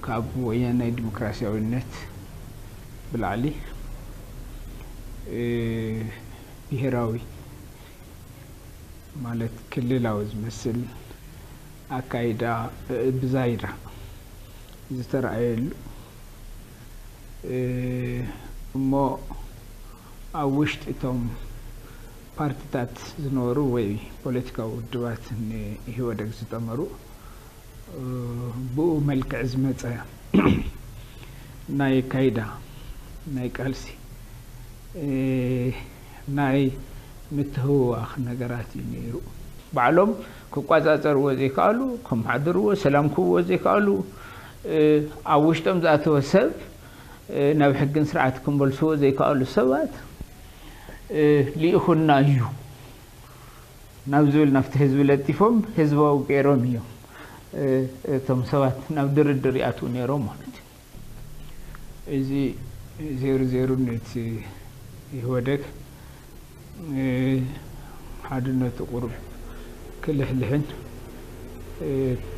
ካብ ወያናይ ዲሞክራሲያዊነት ብላዕሊ ብሄራዊ ማለት ክልላዊ ዝመስል ኣካይዳ ብዛይዳ ዝተረኣየሉ እሞ ኣብ ውሽጢ እቶም ፓርቲታት ዝነበሩ ወይ ፖለቲካዊ ውድባት ንኢህወደግ ዝጠመሩ ብኡ መልክዕ ዝመፀ ናይ ካይዳ ናይ ቃልሲ ናይ ምትህውዋኽ ነገራት እዩ ነይሩ። ባዕሎም ክቋፃፀርዎ ዘይከኣሉ፣ ከመሓድርዎ፣ ሰላም ክህብዎ ዘይከኣሉ፣ ኣብ ውሽጦም ዝኣተወ ሰብ ናብ ሕግን ስርዓት ክመልስዎ ዘይከኣሉ ሰባት ልኢኹና እዩ ናብ ዝብል ናብቲ ህዝቢ ለጢፎም ህዝባዊ ገይሮም እዮም እቶም ሰባት ናብ ድርድር ይኣትዉ ነይሮም ማለት እዩ። እዚ ዜሩ ዜሩ ነቲ ኢህወደግ ሓድነቱ ቁሩብ ክልሕልሕን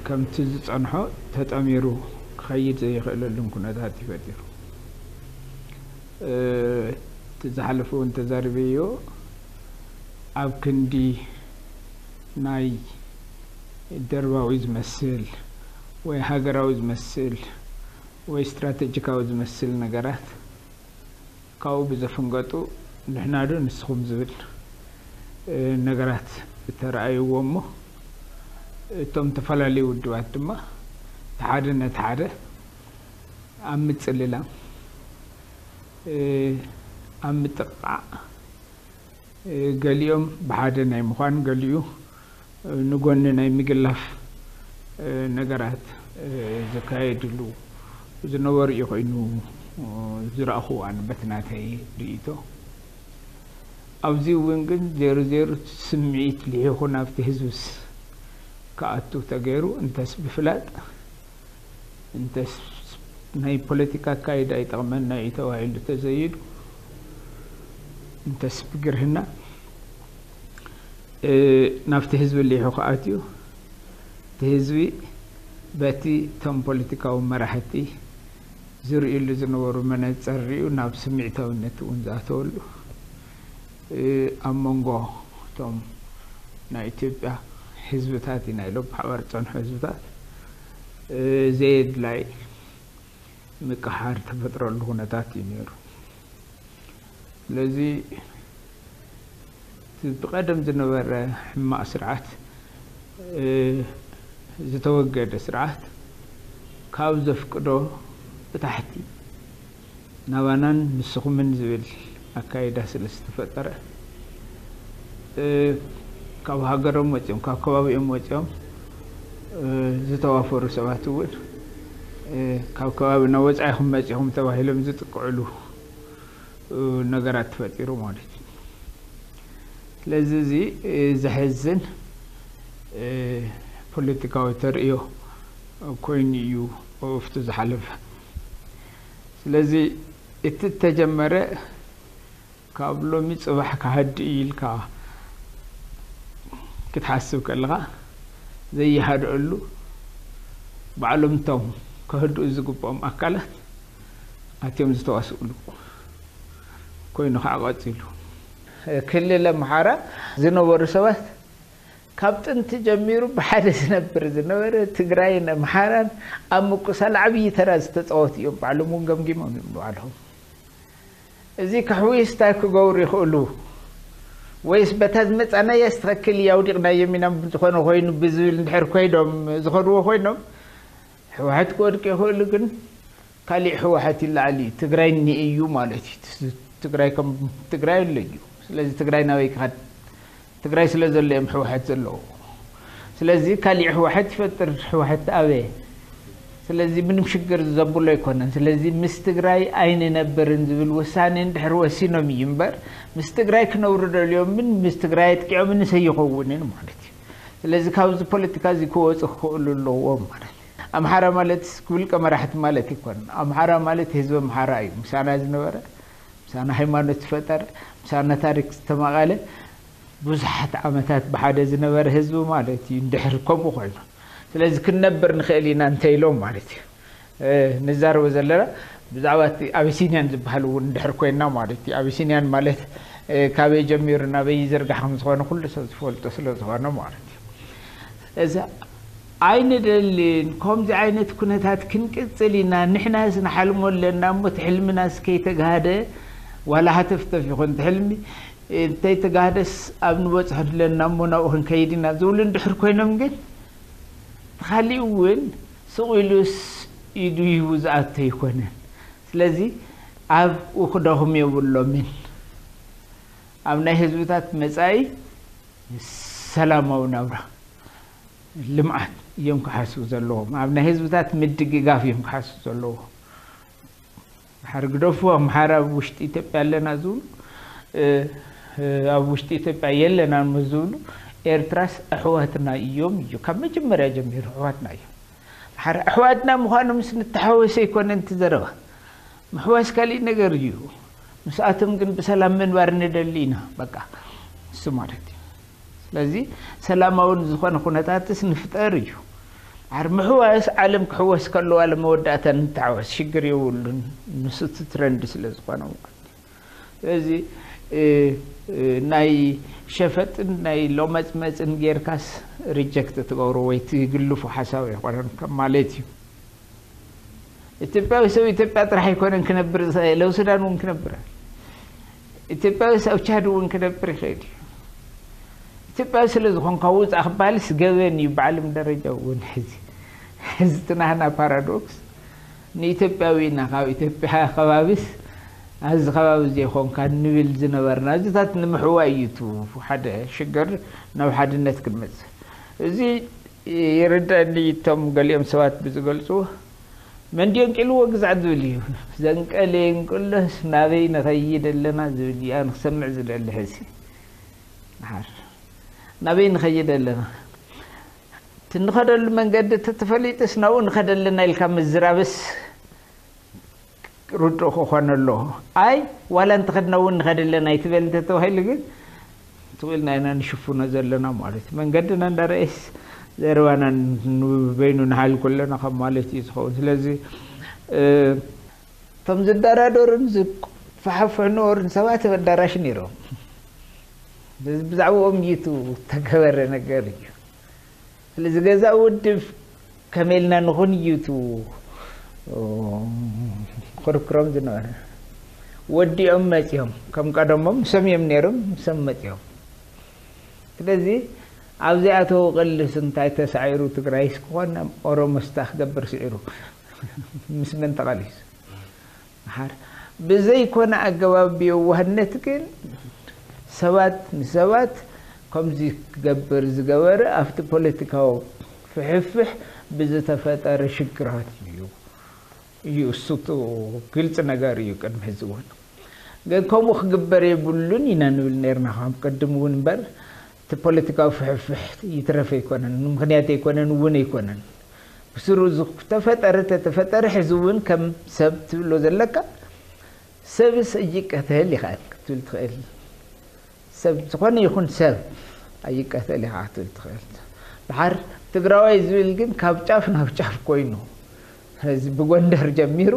ከምቲ ዝጸንሖ ተጠሚሩ ክኸይድ ዘይኽእለሉን ኩነታት ይፈጢሩ። እቲ ዝሓለፈ እውን ተዛሪበዮ ኣብ ክንዲ ናይ ደርባዊ ዝመስል ወይ ሃገራዊ ዝመስል ወይ ስትራቴጂካዊ ዝመስል ነገራት ካብኡ ብዘፍንገጡ ንሕና ዶ ንስኹም ዝብል ነገራት እተረኣይዎ እሞ እቶም ዝተፈላለዩ ውድባት ድማ እቲ ሓደ ነቲ ሓደ ኣብ ምጽልላም ኣብ ምጥቕቓዕ ገሊኦም ብሓደ ናይ ምዃን ገሊኡ ንጎኒ ናይ ምግላፍ ነገራት ዘካየድሉ ዝነበሩ እዩ ኮይኑ ዝረእኹ ኣነ በቲ ናተይ ርእይቶ። ኣብዚ እውን ግን ዜሩ ዜሩ ስምዒት ልሒኹ ናብቲ ህዝብስ ክኣቱ ተገይሩ እንተስ ብፍላጥ እንተስ ናይ ፖለቲካ ኣካይዳ ይጠቕመና እዩ ተባሂሉ ተዘይዱ እንተስ ብግርህና ናብቲ ህዝቢ ሊሑ ክኣትዩ እቲ ህዝቢ በቲ እቶም ፖለቲካዊ መራሕቲ ዝርእሉ ዝነበሩ መነፀር ሪኡ ናብ ስምዒታዊነት እውን ዝኣተወሉ ኣብ መንጎ እቶም ናይ ኢትዮጵያ ህዝብታት ኢና ኢሎም ብሓባር ዝፀንሑ ህዝብታት ዘየድላይ ምቅሓር ተፈጥረሉ ኩነታት እዩ ነይሩ። ስለዚ እቲ ብቐደም ዝነበረ ሕማቕ ስርዓት ዝተወገደ ስርዓት ካብ ዘፍቅዶ ብታሕቲ ናባናን ንስኹምን ዝብል ኣካይዳ ስለ ዝተፈጠረ ካብ ሃገሮም ወፂኦም ካብ ከባቢኦም ወፂኦም ዝተዋፈሩ ሰባት እውን ካብ ከባቢና ወፃኢኹም መፂኹም ተባሂሎም ዝጥቅዕሉ ነገራት ተፈጢሩ ማለት እዩ። ስለዚ እዚ ዘሕዝን ፖለቲካዊ ተርእዮ ኮይኑ እዩ ኣብቲ ዝሓለፈ። ስለዚ እቲ እተጀመረ ካብ ሎሚ ፅባሕ ክሃድእ ኢልካ ክትሓስብ ከለኻ ዘይሃድአሉ ባዕሎም እቶም ከህድኡ ዝግብኦም ኣካላት ኣትዮም ዝተዋስእሉ ኮይኑ ከዓ ቀፂሉ። ክልል ኣምሓራ ዝነበሩ ሰባት ካብ ጥንቲ ጀሚሩ ብሓደ ዝነብር ዝነበረ ትግራይን ኣምሓራን ኣብ ምቁሳል ዓብዪ ተራ ዝተፃወቱ እዮም። ባዕሎም እውን ገምጊሞም እዮም ንባዕሎም። እዚ ከሕዊስ እንታይ ክገብሩ ይኽእሉ? ወይስ በታ ዝመፃናያ ትኽክል እዩ ኣውዲቕናዮም ኢና ዝኾነ ኮይኑ ብዝብል እንድሕር ኮይዶም ዝኸድዎ ኮይኖም ህወሓት ክወድቅ ይኽእሉ ግን ካሊእ ህወሓት ይለዓል እዩ ትግራይ እኒአ እዩ ማለት እዩ። ትግራይ ከም ትግራይ ኣሎ እዩ። ስለዚ ትግራይ ናበይ ክኸድ? ትግራይ ስለ ዘሎ እዮም ህወሓት ዘለዎ። ስለዚ ካሊእ ህወሓት ይፈጥር። ህወሓት ኣበየ? ስለዚ ምንም ሽግር ዘብሎ ኣይኮነን። ስለዚ ምስ ትግራይ ኣይንነብርን ዝብል ውሳኔ እንድሕር ወሲኖም እዩ እምበር ምስ ትግራይ ክነብሩ ደልዮምን ምስ ትግራይ ኣጥቂዖምንስ ኣይኸውንን ማለት እዩ። ስለዚ ካብዚ ፖለቲካ እዚ ክወፁ ክኽእሉ ኣለዎም ማለት እዩ። ኣምሓራ ማለት ውልቀ መራሕቲ ማለት ኣይኮነን። ኣምሓራ ማለት ህዝቢ ኣምሓራ እዩ። ምሳና ዝነበረ፣ ምሳና ሃይማኖት ዝፈጠረ፣ ምሳና ታሪክ ዝተማቐለ ብዙሓት ዓመታት ብሓደ ዝነበረ ህዝቢ ማለት እዩ። እንድሕር ከምኡ ኮይኑ ስለዚ ክንነብር ንኽእል ኢና እንተ ኢሎም ማለት እዩ። ንዛረቦ ዘለና ብዛዕባ እቲ ኣቢሲንያን ዝበሃል እውን ድሕር ኮይና ማለት እዩ። ኣቢሲንያን ማለት ካበይ ጀሚሩ ናበይ ይዝርጋሕ ከም ዝኾነ ኩሉ ሰብ ዝፈልጦ ስለ ዝኾነ ማለት እዩ። እዚ ኣይንደልን። ከምዚ ዓይነት ኩነታት ክንቅጽል ኢና። ንሕናስ ንሓልሞ ኣለና እሞ እቲ ሕልምናስ ከይተጋህደ ዋላ ሃተፍተፍ ይኹን እቲ ሕልሚ እንተይተጋህደስ ኣብ ንበጽሖ ኣለና እሞ ናብኡ ክንከይድ ኢና ዝብሉ እንድሕር ኮይኖም ግን እቲ ካሊእ እውን ስቕ ኢሉስ ኢዱ ሂቡ ዝኣቱ ኣይኮነን። ስለዚ ኣብኡ ክደኽሙ የብሎምን። ኣብ ናይ ህዝብታት መጻኢ ሰላማዊ ናብራ ልምዓት እዮም ክሓስቡ ዘለዎም። ኣብ ናይ ህዝብታት ምድግጋፍ እዮም ክሓስቡ ዘለዎም። ድሓር ግደፉ ኣምሓራ ኣብ ውሽጢ ኢትዮጵያ ኣለና ዝብሉ ኣብ ውሽጢ ኢትዮጵያ የለናን ምስ ዝብሉ ኤርትራስ ኣሕዋትና እዮም እዩ ካብ መጀመርያ ጀሚሩ ኣሕዋትና እዮም። ድሓር ኣሕዋትና ምዃኖምስ ንተሓወስ ኣይኮነን እቲ ዘረባ። ምሕዋስ ካሊእ ነገር እዩ። ምስኣቶም ግን ብሰላም ምንባር ንደሊ ኢና በቃ እሱ ማለት እዩ። ስለዚ ሰላማውን ዝኾነ ኩነታትስ ንፍጠር እዩ። ድሓር ምሕዋስ ዓለም ክሕወስ ከለዋ ለመወዳእታ ንተሓወስ ሽግር የብሉን። ንሱ እቲ ትረንድ ስለ ዝኾነ ማለት እዩ። ስለዚ ናይ ሸፈጥን ናይ ሎመፅመፅን ጌርካስ ሪጀክት ትገብሮ ወይ ትግልፎ ሓሳብ ኣይኮነን ከም ማለት እዩ። ኢትዮጵያዊ ሰብ ኢትዮጵያ ጥራሕ ኣይኮነን ክነብር ዝኽእል፣ ኣብ ሱዳን እውን ክነብር፣ ኢትዮጵያዊ ሰብ ቻድ እውን ክነብር ይኽእል እዩ። ኢትዮጵያዊ ስለ ዝኾንካ ውፃእ ክበሃልስ ገበን እዩ ብዓለም ደረጃ እውን። ሕዚ ሕዚ እቲ ናህና ፓራዶክስ ንኢትዮጵያዊ ኢና ካብ ኢትዮጵያ ከባቢስ ኣብዚ ከባቢ ዘይኮንካ ንብል ዝነበርና እዚታት ንምሕዋይ እዩ። እቲ ሓደ ሽግር ናብ ሓድነት ክንመፅእ እዚ ይርዳእኒ። እቶም ገሊኦም ሰባት ብዝገልፅዎ መን ድየንቂልዎ ግዛዕ ዝብል እዩ። ዘንቀለ የንቅሎስ ናበይ ንኸይድ ኣለና ዝብል እዩ ኣነ ክሰምዕ ዝደሊ። ሕዚ ድሓር ናበይ ንኸይድ ኣለና? እቲ ንኸደሉ መንገዲ ተተፈሊጥስ ናብኡ ንኸደ ኣለና ኢልካ ምዝራብስ ርዱእ ክኾን ኣለዎ። ኣይ ዋላ እንተኸድና እውን ንኸደ ኣለና ኣይትበል እንተተባሂሉ ግን ትኽእልና ኢና ንሽፍኖ ዘለና ማለት እዩ። መንገድና እንዳረኣየስ ዘረባና በይኑ ንሓልኩ ኣለና ካብ ማለት እዩ ዝኸውን። ስለዚ እቶም ዝደራደሩን ዝፈሓፍሑ ነበሩን ሰባት ኣብ ኣዳራሽ ነይሮም። ብዛዕባኦም እዩ እቲ ተገበረ ነገር እዩ። ስለዚ ገዛ ውድብ ከመይ ኢልና ንኹን እዩ እቲ ክርክሮም ዝነበረ። ወዲኦም መፂኦም ከም ቀደሞም ምሶም እዮም ነይሮም፣ ምሶም መፂኦም። ስለዚ ኣብዚኣተው ቅልስ እንታይ ተሳዒሩ ትግራይስ ክኾን ኦሮሞስታ ክገብር ስዒሩ ምስ መን ተቓሊሱ? ድሓር ብዘይኮነ ኣገባብ ብየዋህነት ግን ሰባት ንሰባት ከምዚ ክገብር ዝገበረ ኣብቲ ፖለቲካዊ ፍሕፍሕ ብዝተፈጠረ ሽግራት እዩ እዩ እሱ ግልፂ ነገር እዩ። ቅድሚ ሕዚ እውን ግን ከምኡ ክግበር የብሉን ኢና ንብል ነርና ካብ ቅድም እውን እምበር እቲ ፖለቲካዊ ፍሕፍሕ ይትረፍ ኣይኮነን፣ ምኽንያት ኣይኮነን፣ እውን ኣይኮነን። ብስሩ ዝተፈጠረ ተተፈጠረ ሕዚ እውን ከም ሰብ ትብሎ ዘለካ ሰብስ እይቀተል ኢኻ ክትብል ትኽእል። ሰብ ዝኾነ ይኹን ሰብ ኣይቀተል ኢኻ ክትብል ትኽእል። ድሓር ትግራዋይ ዝብል ግን ካብ ጫፍ ናብ ጫፍ ኮይኑ እዚ ብጎንደር ጀሚሩ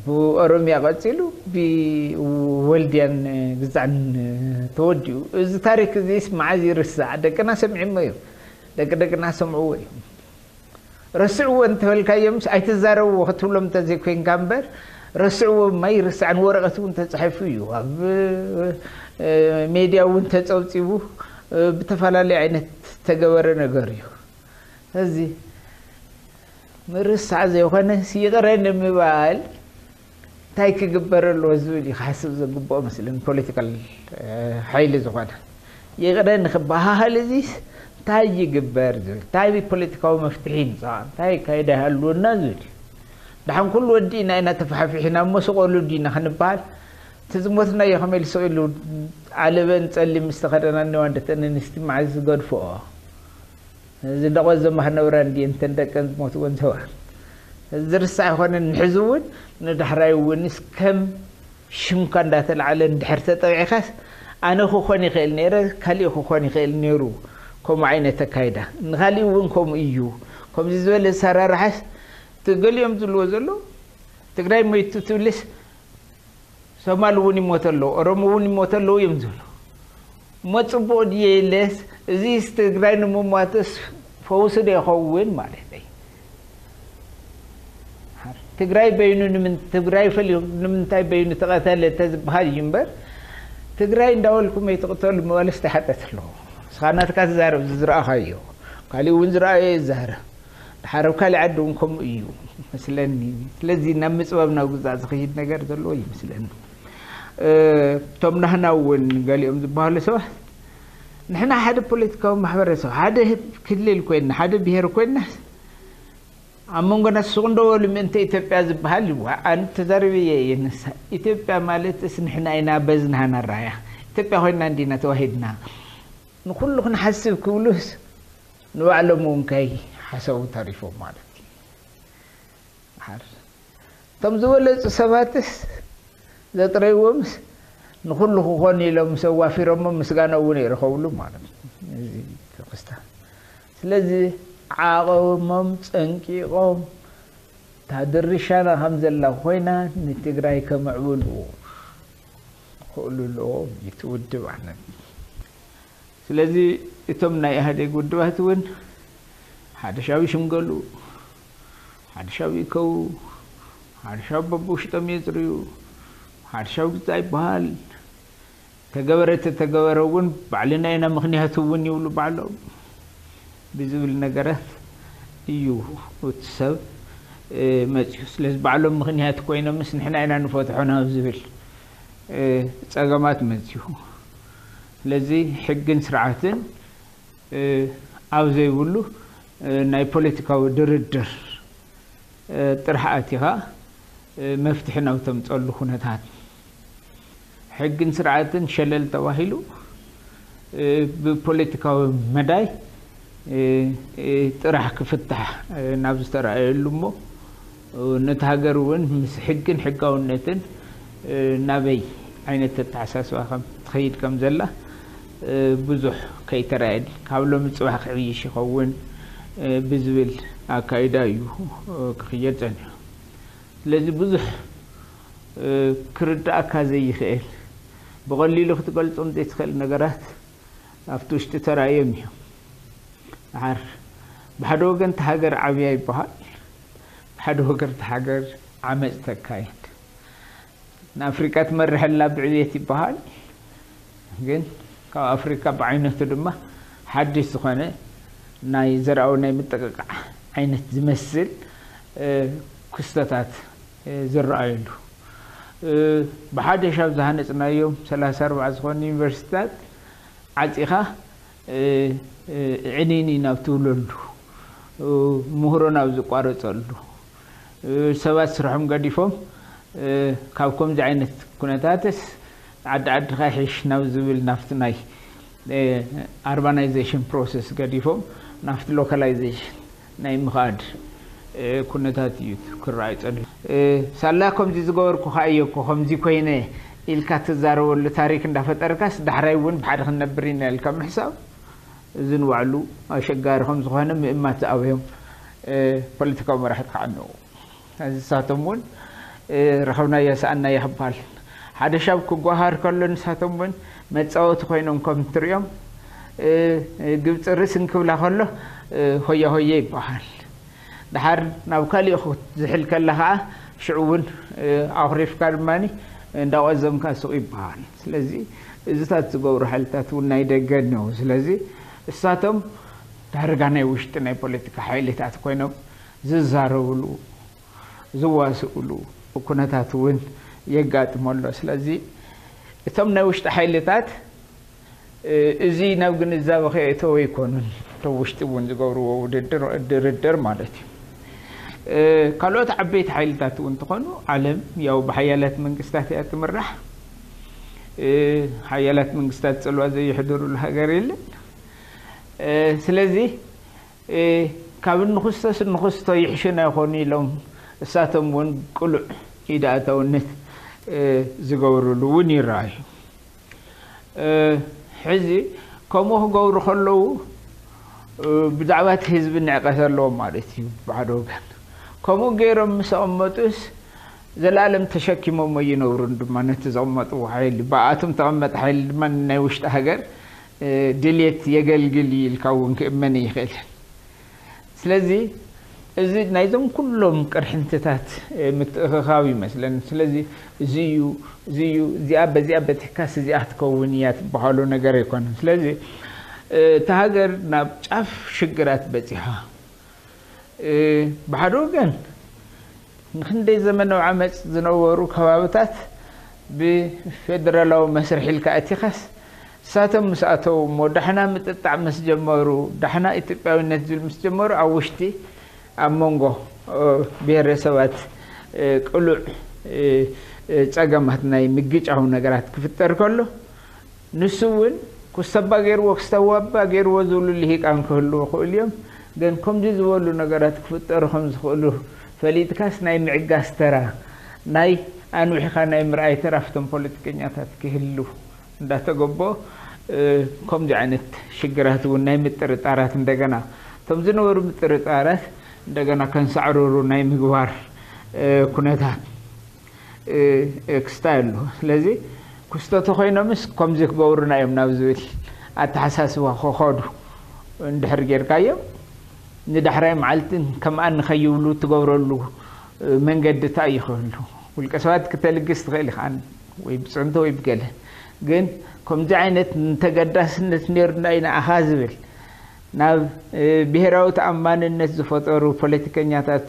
ብኦሮምያ ቀፂሉ ብወልድያን ግዛዕን ተወዲኡ። እዚ ታሪክ እዚስ መዓዝ ይርሳዕ? ደቅና ሰሚዖሞ እዮም። ደቂ ደቅና ሰምዕዎ እዮም። ረስዕዎ እንተበልካዮምስ ኣይትዛረብዎ ክትብሎም እንተዘይኮይንካ እምበር ረስዕዎ ማይ ይርሳዕን ወረቐት እውን ተፃሒፉ እዩ። ኣብ ሜድያ እውን ተፀብፂቡ ብተፈላለዩ ዓይነት ተገበረ ነገር እዩ። እዚ ምርሳዕ ዘይኮነስ ይቕረ ንምባል እንታይ ክግበር ኣለዎ ዝብል እዩ ክሓስብ ዘግብኦ መስለኒ ፖለቲካል ሓይሊ ዝኾነ። ይቕረ ንክበሃሃል እዚስ እንታይ ይግበር ዝብል እንታይ ፖለቲካዊ መፍትሒ ይምፃእ እንታይ ኣካይዳ ይሃልወና ዝብል እዩ። ደሓን ኩሉ ወዲእና ኢና ተፋሕፊሕና እሞ ስቐሉ ዲና ክንበሃል እቲ ዝሞትናዮ ከመይ ኢሉ ስቕ ኢሉ ዓለበን ፀሊም ምስ ተኸደና እኒዋ ደቂ ኣንስቲ መዓዝ ዝገድፍኦ እዚ ደቆ ዘማህ ነብራ እንዲ እንተን ደቀን ዝሞትወን ሰዋ ዝርሳዕ ይኮነን ንሕዚ እውን ንዳሕራይ እውን እስከም ሽምካ እንዳተላዓለ እንድሕር ተጠቂዕካስ ኣነ ክኾን ይኽእል ነይረ ካሊእ ክኾን ይኽእል ነይሩ ከምኡ ዓይነት ኣካይዳ ንካሊእ እውን ከምኡ እዩ። ከምዚ ዝበለ ኣሰራርሓስ እቲ ገሊኦም ዝብልዎ ዘሎ ትግራይ ሞይቱ ትብልስ ሶማል እውን ይሞተ ኣለዉ፣ ኦሮሞ እውን ይሞተ ኣለዉ እዮም ዝብሉ። እሞ ፅቡቕ ድየ ኢለስ እዚስ ትግራይ ንምሟትስ ፈውሲ ዶ ይኸውን ማለት እዩ? ትግራይ በይኑ ንምን ትግራይ ፈሊኹ ንምንታይ በይኑ ተቐተለ ተዝበሃል እዩ እምበር ትግራይ እንዳበልኩም ኣይትቕተሉ ምባልስ እንታይ ሓጠት ኣለዎ? ንስኻ ናትካ ትዛረብ ዝዝረኣኻዮ ካሊእ እውን ዝረኣዮ ይዛረብ። ድሓር ኣብ ካሊእ ዓዲ እውን ከምኡ እዩ መስለኒ። ስለዚ ናብ ምፅባብ ናብ ግዛእ ዝኸይድ ነገር ዘለዎ ይመስለኒ። እቶም ናህና እውን ገሊኦም ዝበሃሉ ሰባት ንሕና ሓደ ፖለቲካዊ ማሕበረሰብ ሓደ ክልል ኮይና ሓደ ብሄር ኮይና ኣብ መንጎና ሱቕ እንደበሉ ምእንተ ኢትዮጵያ ዝበሃል ይዋ ኣነ ተዛሪበ እየ። የነሳ ኢትዮጵያ ማለት እስ ንሕና ኢና በዝናሃና ራያ ኢትዮጵያ ኮይና እንዲና ተዋሂድና ንኩሉ ክንሓስብ ክብሉስ ንባዕሎም እውን ከይ ሓሰቡ ተሪፎም ማለት እዩ። ሓር እቶም ዝበለፁ ሰባትስ ዘጥረይዎምስ ንኩሉ ክኾን ኢሎም ምስ ኣዋፊሮሞ ምስጋና እውን ይረኸብሉ ማለት እዩ። እዚ ክስታ ስለዚ ዓቐሞም ፀንቂቖም እታ ድርሻና ከም ዘላ ኮይና ንትግራይ ከምዕብሉ ክእሉ ኣለዎም እቲ ውድብ ኣነ ስለዚ እቶም ናይ ኢህዴግ ውድባት እውን ሓደሻዊ ሽምገሉ ሓደሻዊ ይከው ሓደሻዊ በብውሽጦም የፅርዩ ሓደሻዊ ግዛ ይበሃል ተገበረ ተተገበረ እውን ባዕልና ኢና ምክንያቱ እውን ይብሉ ባዕሎም ብዝብል ነገራት እዩ እቲ ሰብ መፅዩ ስለዚ ባዕሎም ምክንያት ኮይኖምስ ንሕና ኢና ንፈትሖ ናብ ዝብል ፀገማት መፅዩ ስለዚ ሕግን ስርዓትን ኣብ ዘይብሉ ናይ ፖለቲካዊ ድርድር ጥራሕ ኣቲኻ መፍትሒ ናብ ተምፀሉ ኩነታት ሕግን ስርዓትን ሸለል ተባሂሉ ብፖለቲካዊ መዳይ ጥራሕ ክፍታሕ ናብ ዝተረኣየሉ እሞ ነቲ ሃገር እውን ምስ ሕግን ሕጋውነትን ናበይ ዓይነት ኣተሓሳስባ ከም ትኸይድ ከም ዘላ ብዙሕ ከይተራየኒ ካብ ሎሚ ፅባሕ ክዕይሽ ይኸውን ብዝብል ኣካይዳ እዩ ክኽየድ ፀኒሑ። ስለዚ ብዙሕ ክርዳእካ ዘይኽእል ብቐሊሉ ክትገልፆም ዘይትኽእል ነገራት ኣብቲ ውሽጢ ተራእዮም እዮም። ድሓር ብሓደ ወገን እቲ ሃገር ዓብያ ይበሃል፣ ብሓደ ወገን እቲ ሃገር ዓመፅ ተካይድ። ንኣፍሪቃ ትመርሐላ ብዕብየት ይበሃል፣ ግን ካብ ኣፍሪቃ ብዓይነቱ ድማ ሓድሽ ዝኾነ ናይ ዘርኣዊ ናይ ምጥቕቃዕ ዓይነት ዝመስል ክስተታት ዝረኣየሉ ብሓደሽ ኣብ ዝሃነፅናዮም ሰላሳ ኣርባዓ ዝኾኑ ዩኒቨርሲቲታት ዓፂኻ ዕንይንይ ናብ ትብለሉ ምሁሮ ናብ ዝቋረፀሉ ሰባት ስርሖም ገዲፎም ካብ ከምዚ ዓይነት ኩነታትስ ዓዲ ዓድኻ ይሕሽ ናብ ዝብል ናብቲ ናይ ኣርባናይዜሽን ፕሮሰስ ገዲፎም ናብቲ ሎካላይዜሽን ናይ ምኻድ ኩነታት እዩ ክረኣይ ፀኒሑ። ሳላ ከምዚ ዝገበርኩ ከኣ እየ እኮ ከምዚ ኮይነ ኢልካ ትዛረበሉ ታሪክ እንዳፈጠርካስ ዳሕራይ እውን ብሓደ ክንነብር ኢና ኢልካ ምሕሳብ እዚ ንባዕሉ ኣሸጋሪ ከም ዝኾነ ምእማት ዝኣበዮም ፖለቲካዊ መራሕቲ ከዓ ኣለዉ። እዚ ንሳቶም እውን ረኸብናዮ ሰኣናዮ ክበሃል ሓደ ሻብ ክጓሃር ከሎ ንሳቶም እውን መፃወቲ ኮይኖም ከም ትሪኦም ግብፂ ርስ እንክብላ ከሎ ሆያ ሆየ ይበሃል። ድሓር ናብ ካሊእ ክትዝሕል ከላ ከዓ ሽዑ እውን ኣኹሪፍካ ድማ እንዳቆዘምካ ሱቕ ይበሃል። ስለዚ እዚታት ዝገብሩ ሓይልታት እውን ናይ ደገ እነው። ስለዚ እሳቶም ዳርጋ ናይ ውሽጢ ናይ ፖለቲካ ሓይልታት ኮይኖም ዝዛረብሉ ዝዋስእሉ ኩነታት እውን የጋጥሞ ኣሎ። ስለዚ እቶም ናይ ውሽጢ ሓይልታት እዚ ናብ ግንዛበ ከየእተወ ኣይኮኑን። እቶም ውሽጢ እውን ዝገብርዎ ውድድር ድርድር ማለት እዩ። ካልኦት ዓበይቲ ሓይልታት እውን እንተኾኑ ዓለም ያው ብሓያላት መንግስታት እያ ትምራሕ። ሓያላት መንግስታት ፅልዋ ዘየሕድሩሉ ሃገር የለን። ስለዚ ካብ እንኽሰስ እንኽስቶ ይሕሽና ይኾኑ ኢሎም እሳቶም እውን ቅሉዕ ኢድ ኣእታውነት ዝገብርሉ እውን ይረኣዩ። ሕዚ ከምኡ ክገብሩ ከለዉ ብዛዕባ እቲ ህዝቢ ንዕቀት ኣለዎም ማለት እዩ ብሓደ ወገን። ከምኡ ገይሮም ምስ ኣቐመጡስ ዘላለም ተሸኪሞሞ ይነብሩን ድማ ነቲ ዘቐመጥዎ ሓይሊ፣ ብኣቶም ተቐመጠ ሓይሊ ድማ ናይ ውሽጢ ሃገር ድልየት የገልግል እዩ ኢልካ እውን ክእመን ይኽእል። ስለዚ እዚ ናይዞም ኩሎም ቅርሕንትታት ምትእኽኻብ ይመስለን። ስለዚ እዚ እዩ፣ እዚ እዩ፣ እዚኣ በዚኣ በቲሕካስ እዚኣ ትከውን እያ ትበሃሉ ነገር ኣይኮነን። ስለዚ እታ ሃገር ናብ ጫፍ ሽግራት በፂሓ። ብሓደ ወገን ንክንደይ ዘመናዊ ዓመፅ ዝነበሩ ከባብታት ብፌደራላዊ መስርሕ ኢልካ እቲኻስ፣ እሳቶም ምስ ኣተው እሞ ዳሕና ምጥጣዕ ምስ ጀመሩ፣ ዳሕና ኢትዮጵያዊነት ዝብል ምስ ጀመሩ፣ ኣብ ውሽጢ ኣብ መንጎ ብሄረሰባት ቅሉዕ ፀገማት ናይ ምግጫው ነገራት ክፍጠር ከሎ፣ ንሱ እውን ኩስተባ ገይርዎ፣ ክስተዋባ ገይርዎ ዝብሉ ልሂቃን ክህልዉ ይኽእሉ እዮም። ግን ከምዚ ዝበሉ ነገራት ክፍጠሩ ከም ዝኽእሉ ፈሊጥካስ ናይ ምዕጋስ ተራ፣ ናይ ኣንዊሕካ ናይ ምርኣይ ተራ ኣብቶም ፖለቲከኛታት ክህሉ እንዳተገቦ፣ ከምዚ ዓይነት ሽግራት እውን ናይ ምጥርጣራት እንደገና እቶም ዝነበሩ ምጥርጣራት እንደገና ከንሳዕርሩ ናይ ምግባር ኩነታት ክስታይ ኣሎ። ስለዚ ክስተቱ ኮይኖምስ ከምዚ ክገብሩና እዮም ናብ ዝብል ኣተሓሳስባ ክኸዱ እንድሕር ጌርካዮም፣ ንዳሕራይ መዓልትን ከምኣን ንኸይብሉ ትገብረሉ መንገዲ እንታይ እዩ ክህሉ? ውልቀ ሰባት ክተልግስ ትኽእል ኢኻ፣ ወይ ብፅዕንቶ ወይ ብገለ። ግን ከምዚ ዓይነት ንተገዳስነት ነይሩና ኢና ኣኻ ዝብል ናብ ብሄራዊ ተኣማንነት ዝፈጠሩ ፖለቲከኛታት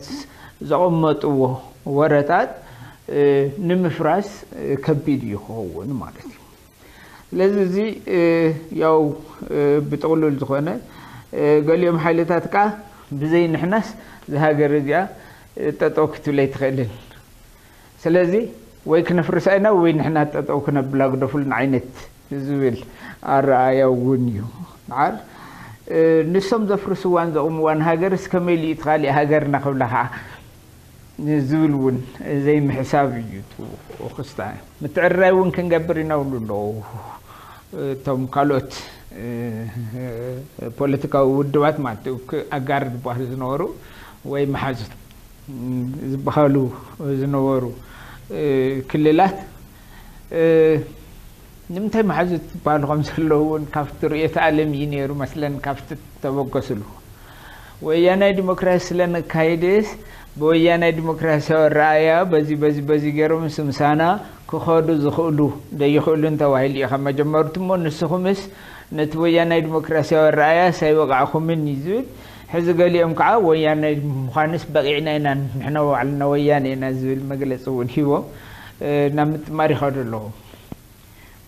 ዘቐመጥዎ ወረታት ንምፍራስ ከቢድ እዩ ክኸውን ማለት እዩ። ስለዚ እዚ ያው ብጥቕሉል ዝኾነ ገሊኦም ሓይልታት ከኣ ብዘይ ንሕናስ እዛ ሃገር እዚኣ ጠጠው ክትብል ኣይትኽእልን። ስለዚ ወይ ክነፍርሳ ኢና ወይ ንሕና ጠጠው ክነብላ ግደፉልና ዓይነት ዝብል ኣረኣእያ እውን እዩ። ደሓር ንሶም ዘፍርስዋን ዘቑምዋን ሃገርስ ከመይ ኢሉ እዩ እቲ ካሊእ ሃገርና ክብላ ከዓ ዝብል እውን ዘይምሕሳብ እዩ እቲ ክስታይ። ምትዕርራይ እውን ክንገብር ኢና ይብሉ ኣለዉ። እቶም ካልኦት ፖለቲካዊ ውድባት ማለት እዩ፣ ኣጋር ዝበሃሉ ዝነበሩ ወይ መሓዙት ዝበሃሉ ዝነበሩ ክልላት ንምንታይ መሓዙት ዝበሃሉ ከም ዘለዉ እውን ካብቲ ርእዮተ ዓለም እዩ ነይሩ መስለን፣ ካብቲ ተበገስሉ። ወያናይ ዲሞክራሲ ስለነካይድስ ብወያናይ ዲሞክራሲያዊ ኣረኣእያ በዚ በዚ በዚ ገይሮም ምስ ምሳና ክኸዱ ዝኽእሉ ደይኽእሉን ተባሂሉ እዩ ካብ መጀመርቱ። እሞ ንስኹምስ ነቲ ወያናይ ዲሞክራሲያዊ ኣረኣእያስ ኣይወቃዕኹምን እዩ ዝብል። ሕዚ ገሊኦም ከዓ ወያናይ ምዃንስ በቂዕና ኢና፣ ንሕና ባዕልና ወያነ ኢና ዝብል መግለፂ እውን ሂቦም ናብ ምጥማር ይኸዱ ኣለዉ።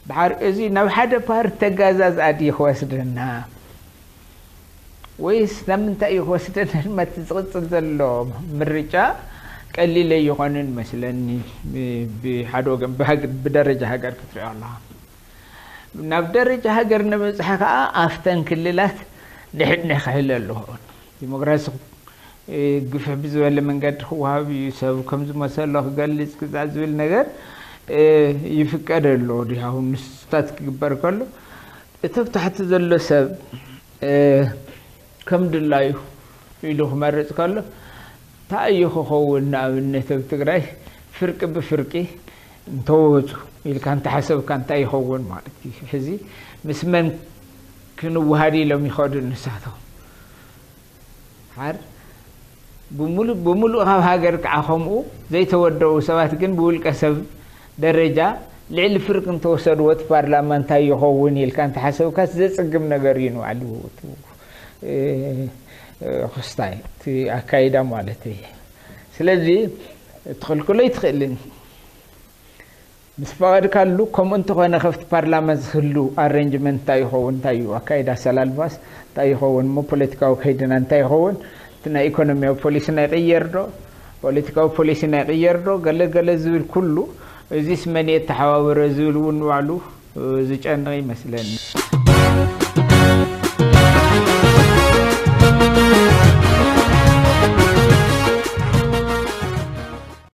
ደሓር እዚ ናብ ሓደ ፓርቲ ተጋዛዝኣ ድዩ ክወስደና ወይስ ናብ ምንታይ እዩ ክወስደና? ድማ እቲ ዝቕፅል ዘሎ ምርጫ ቀሊል ኣይኾንን መስለኒ። ብሓደ ወገን ብደረጃ ሃገር ክትሪኦ ኣለኻ። ናብ ደረጃ ሃገር ንበፅሐ ከዓ ኣብተን ክልላት ድሕድነ ክህለ ኣለዎ። ዲሞክራሲ ግፍሕ ብዝበለ መንገዲ ክወሃብ እዩ፣ ሰብ ከም ዝመሰሎ ክገልፅ ግዛዕ ዝብል ነገር ይፍቀድ ኣሎ። ድሃው ንስታት ክግበር ከሎ እቲ ኣብ ታሕቲ ዘሎ ሰብ ከም ድላዩ ኢሉ ክመርፅ ከሎ እንታይ እዩ ክኸውን? ንኣብነት ኣብ ትግራይ ፍርቂ ብፍርቂ እንተወፁ ኢልካ እንተሓሰብካ እንታይ ይኸውን ማለት እዩ? ሕዚ ምስ መን ክንወሃድ ኢሎም ይኸዱ ንሳቶም? ሓር ብምሉእ ብምሉእ ካብ ሃገር ከዓ ከምኡ ዘይተወደቡ ሰባት ግን ብውልቀ ሰብ ደረጃ ልዕሊ ፍርቂ እንተወሰድዎ እቲ ፓርላማ እንታይ ይኸውን ኢልካ እንተሓሰብካ ዘፅግም ነገር እዩ ንባዕሉ ክስታይ እቲ ኣካይዳ ማለት እዩ። ስለዚ ትኽልክሎ ኣይትኽእልን። ምስ ፈቐድካሉ ከምኡ እንተኾነ ከፍቲ ፓርላማ ዝህሉ ኣሬንጅመንት እንታይ ይኸውን እንታይ እዩ ኣካይዳ ኣሰላልፋስ እንታይ ይኸውን እሞ ፖለቲካዊ ከይድና እንታይ ይኸውን? እቲ ናይ ኢኮኖሚያዊ ፖሊሲ ናይ ቅየር ዶ ፖለቲካዊ ፖሊሲ ናይ ቅየር ዶ ገለ ገለ ዝብል ኩሉ እዚስ መን እየ ተሓባበረ ዝብል እውን ባዕሉ ዝጨንቕ ይመስለኒ።